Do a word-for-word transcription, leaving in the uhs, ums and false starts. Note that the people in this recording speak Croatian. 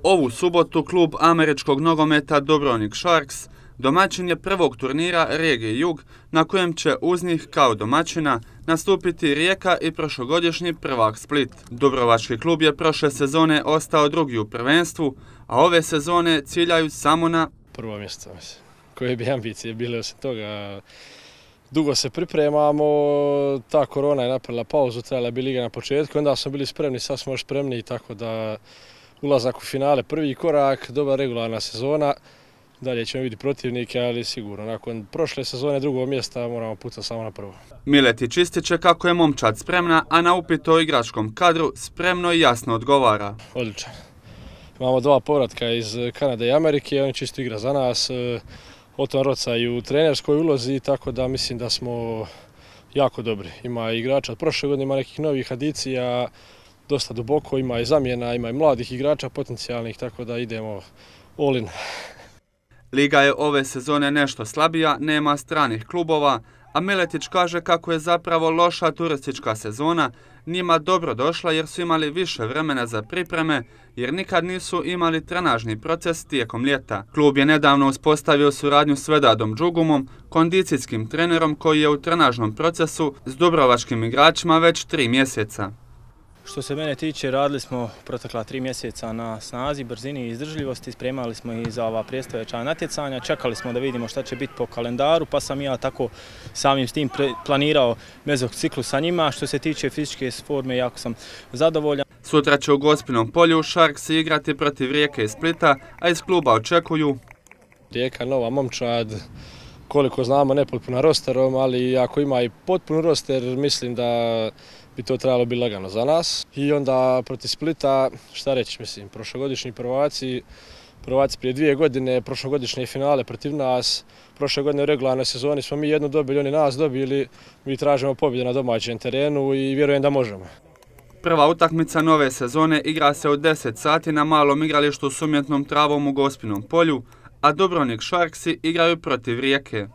Ovu subotu klub američkog nogometa Dubrovnik Sharks domaćin je prvog turnira regije Jug, na kojem će uz njih kao domaćina nastupiti Rijeka i prošlogodišnji prvak Split. Dubrovački klub je prošle sezone ostao drugi u prvenstvu, a ove sezone ciljaju samo na prvo mjesto. Koje bi ambicije bile osim toga? Dugo se pripremamo, ta korona je napravila pauzu, trajala bi liga na početku, onda smo bili spremni, sad smo još spremni, tako da ulazak u finale prvi korak, dobra regularna sezona. Dalje ćemo vidjeti protivnike, ali sigurno, nakon prošle sezone drugog mjesta moramo pucati samo na prvo. Miletić ističe kako je momčad spremna, a na upit o igračkom kadru spremno i jasno odgovara. Odličan. Imamo dva povratka iz Kanade i Amerike, oni čisto igra za nas. Oton Roca i u trenerskoj ulozi, tako da mislim da smo jako dobri. Ima igrača od prošle godine, ima nekih novih adicija, dosta duboko, ima i zamjena, ima i mladih igrača potencijalnih, tako da idemo all in. Liga je ove sezone nešto slabija, nema stranih klubova, a Miletić kaže kako je zapravo loša turistička sezona njima dobro došla jer su imali više vremena za pripreme, jer nikad nisu imali trenažni proces tijekom ljeta. Klub je nedavno uspostavio suradnju s Vedadom Džugumom, kondicijskim trenerom koji je u trenažnom procesu s dubrovačkim igračima već tri mjeseca. Što se mene tiče, radili smo protekla tri mjeseca na snazi, brzini i izdržljivosti, spremali smo i za ova predstojeća natjecanja, čekali smo da vidimo šta će biti po kalendaru, pa sam ja tako samim s tim planirao mezociklus sa njima. Što se tiče fizičke forme, jako sam zadovoljan. Sutra će u Gospinom polju Sharks igrati protiv Rijeke i Splita, a iz kluba očekuju Rijeka, nova momčad, koliko znamo nepotpuna rosterom, ali ako ima i potpun roster, mislim da bi to trebalo biti lagano za nas. I onda protiv Splita, šta reći, mislim, prošlogodišnji prvaci, prvaci prije dvije godine, prošlogodišnje finale protiv nas, prošle godine u regularnoj sezoni smo mi jednu dobili, oni nas dobili, mi tražimo pobjedu na domaćem terenu i vjerujem da možemo. Prva utakmica nove sezone igra se u deset sati na malom igralištu s umjetnom travom u Gospinom polju, a Dubrovnik Sharksi igraju protiv Rijeke.